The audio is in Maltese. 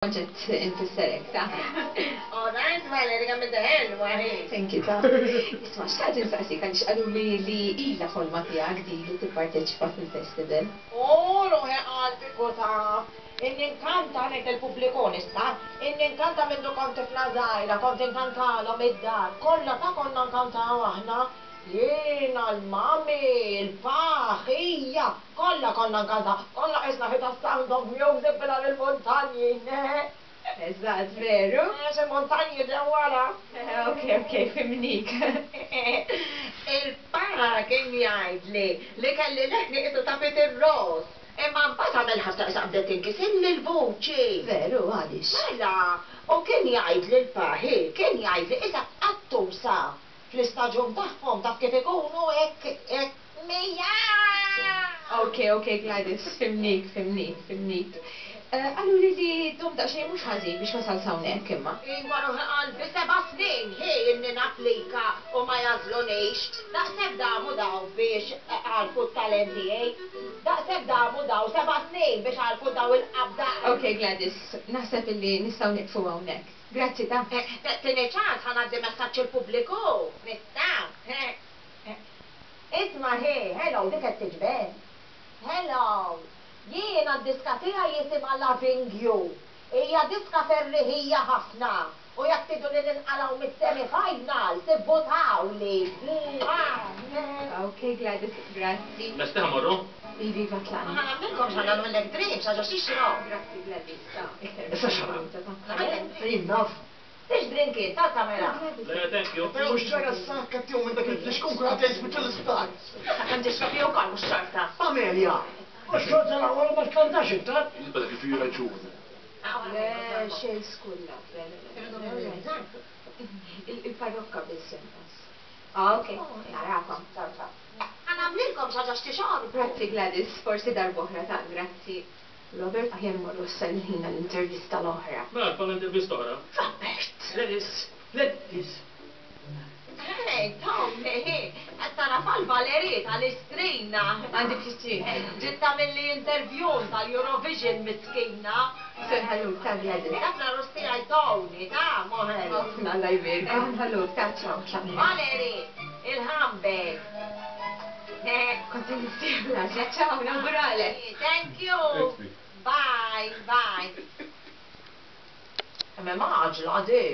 Kont qed infisser hekk, ta. Oh nice Valerie kemm inti ħelwa hi. Thank you ta. Isma' xtaqt insaqsik għaliex qaluli li ilha ħolma tiegħek din li tipparteċipa fil-festival. Oh ruħi qalbi ku taf. Inni nkanta ngħid lill-pubbliku nista'. Inni nkanta mindu kont tifla żgħira kont inkantalhom id-dar kollha ta' konna nkantaw aħna. Jiena, l-mummy, il-pa, ħija. Kollha konna nkantaw, konna qisna ħi tas-Sound of Music mingħajr il-muntanji, nehe. Eżatt, veru? Għax il-muntanji ġew wara. Ok, ok, fhimnik. Il-pa kien jgħidli li kelli leħni qisu ta' Peter Ross, imma mbagħad għamel ħabta qisha bdiet tinkisilli l-vuċi. Veru, għaliex? Mela, u kien jgħidli l-pa, hi, kien jgħidli qisha qattusa fl-istaġun tagħhom, taf kif ikunu hekk, hekk. Mia! Ok, ok Gladys, fhimnik, fhimnik, fhimnik. Qaluli li domt daqsxejn mhux ħażin biex wasalt hawnhekk imma. Iwa ruħi qalbi, seba' snin hi inni napplika u ma jagħżlunix. Daqshekk damu daw biex għarfu t-talent tiegħi. Daqshekk damu daw, seba' snin biex għarfu daw il-qabda. Ok Gladys, naħseb illi nistgħu nieqfu hawnhekk. Grazzi ta. Tini ċans ħa ngħaddi messaġġ il-pubbliku? Nista'? Isma' hi, hello, dik qed tiġbed. Hello. Jiena d-diska tiegħi jisimha Loving You. Hija diska ferriħija ħafna u jekk tridu li ninqalgħu mis-semi finals ivvutawli. Mwah. Ok Gladys, grazzi. Lesti ħa mmorru? Iva iva tlaqna. Ħa nagħmlilkom x'ħa nagħmillek drinks għax għax tixrob. Grazzi Gladys, ta' iktar Issa x'ħa minuta ta'. Jien naf. Tixtri nkiet tal-kamera? Le, thank you. Mhux ġara s-sakka tiegħu minn dak il-flixkun kulħadd qed jispiċċa l-isptar. Sakemm tixrob hi wkoll mhux xorta. Amelia! Mhux xorta l-aqwa li ma tkantax iktar. Jista' dak li raġun. Le, xejn skullat, le, le, le, le, le. Il-parrokka biss inqas. Ah, ok, narakom. Ciao, ciao. Ħa nagħmlilkom xi ħaġa x'tixorbu. Grazzi Gladys, forsi darb'oħra ta' grazzi. Robert, aħjar immorru issa l-ħin għall-intervista l-oħra. Mela tfalna intervista oħra. Robert! Gladys! Gladys! Hey, Tommy, qed tara fal-Valerie tal-Istrina. Għandi pjaċir. Ġiet tagħmilli interview tal-Eurovision miskina. Se nħalluk ta' Gladys. Dak l-għarus tiegħi Tony, ta' moħel. Ħafna Alla jbierku. Nħalluk ta' ciao tlaqna. Valerie, il-ħambek. Kont nistieħ l-għaxja, ciao, nawguralek. Thank you. Bye, bye. Kemm hemm għaġla di.